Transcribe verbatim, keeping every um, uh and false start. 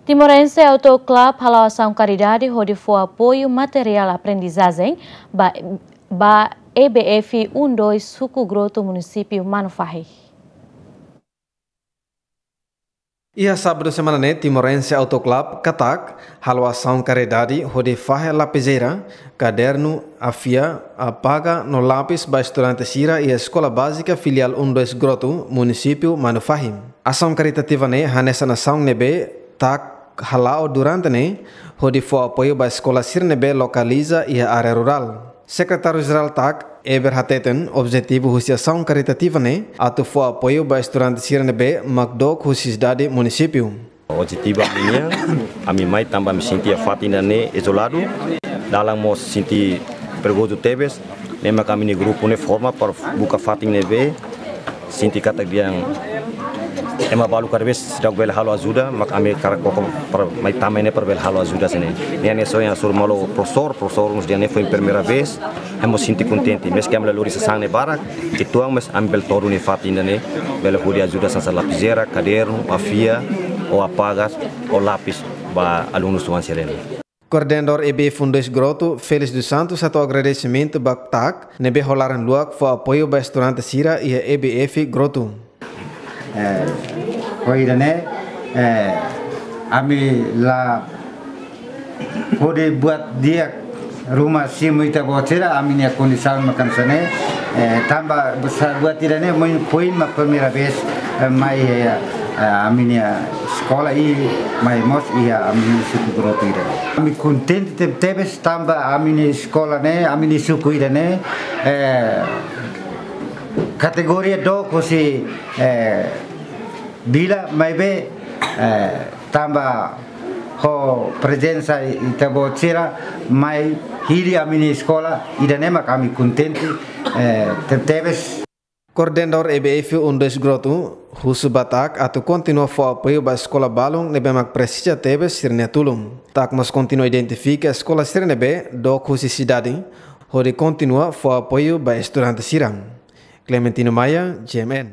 Timorense Auto Club hala'o asaun karidade hodi fó apoiu materiál aprendizajen ba, ba E B F um dois Suku Grotu, Munisípiu Manufahi. Iha sábadu semana ne'e, Timorense Auto Club, katak, hala'o asaun karidade hodi fahe lapizeira, kadernu, afia, apaga no lapis ba estudante sira iha Eskola Bázika Filiál um dois Grotu, Munisípiu Manufahi. Asaun karitativa ne'e hanesan asaun ne'ebé TAC hala'o durante ne'e hodi fó apoiu ba eskola sira ne'ebé lokaliza iha área rurál. Sekretáriu Jerál TAC, Eber, hateten objetivu husi asaun karitativa ne'e atu fó apoiu ba estudante sira ne'ebé mak dook husi sidade munisípiu. Objetivu ami-nian, ami mai tanba ami sente iha fatin ida-ne'e izoladu, dalan mós sente perigozu tebes, ne'e mak ami-nia grupu ne'e forma para buka fatin ne'ebé sente katak dehan ema balu kada vez seidauk bele halo ajuda, mak ami hakarak koko para mai tama ne'e para bele halo ajuda sira-ne'e. Ne'e ami sonha sur malu profesór, profesór mós dehan ne'e foin primeira vez, ami sente kontente, maske ami la lori sasán ne'e barak, uitoan maibé ami bele to'o duni iha fatin ida-ne'e, bele hodi ajuda hanesan lapizeira, kadernu, afia, ou apaga, ou lapis ba alunus tuan sira-ne'e. Koordenadór E B F um dois Grotu, Félix dos Santos, hato'o agradesimentu ba TAC ne'ebé ho laran luak fó apoiu ba estudante sira iha E B F Grotu. Eh, ho ida-ne'e, eh, ami la hodi buat di'ak ruma simu ita-boot sira, ami-nia kondisaun mak hanesan ne'e, eh, tanba besar buat ida-ne'e, foin, foin mak primeira vez, eh, mai, eh, eh, ami-nia eskola i mai mós iha ami-nia suku Grotu ida. Ami kontente teb-, tebes tanba ami-nia eskola ne'e, ami-nia suku ida-ne'e, eh, kategoria dook husi, eh, vila, maibé, eh, tanba ho prezensa ita-boot sira mai hili ami-nia eskola ida-ne'e mak ami kontente, eh, teb-, tebes. Koordenadór E B F um dois Grotu husu ba TAC atu kontinua fó apoiu ba eskola balun ne'ebé mak presiza tebes sira-nia tulun. TAC mós kontinua identifika eskola sira ne'ebé dook husi sidade, hodi kontinua fó apoiu ba estudante sira. Clementino Maia, G M N.